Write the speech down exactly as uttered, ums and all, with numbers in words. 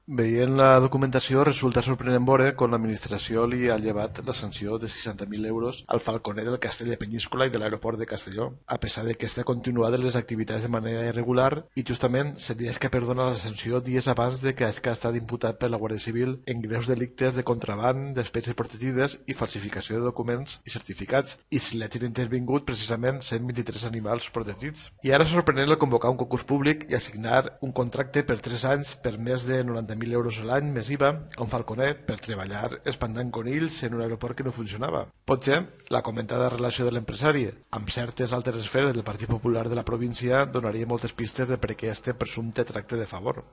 Veient la documentació, resulta sorprenent veure com l'administració li ha llevat la sanció de seixanta mil euros al falconer del Castell de Penyíscola i de l'aeroport de Castelló, a pesar de que està continuada les activitats de manera irregular i justament se li és que perdona la sanció dies abans de que hagi estat imputat per la Guàrdia Civil en greus delictes de contraban, d'espècies protegides i falsificació de documents i certificats, i si l'hagin intervingut precisament cent vint-i-tres animals protegits. I ara és sorprenent el convocar un concurs públic i assignar un contracte per tres anys per més de noranta mil euros a l'any més I V A a un falconer per treballar espantant conills en un aeroport que no funcionava. Potser la comentada relació de l'empresari amb certes altres esferes del Partit Popular de la província donaria moltes pistes de per què este presumpte tracte de favor.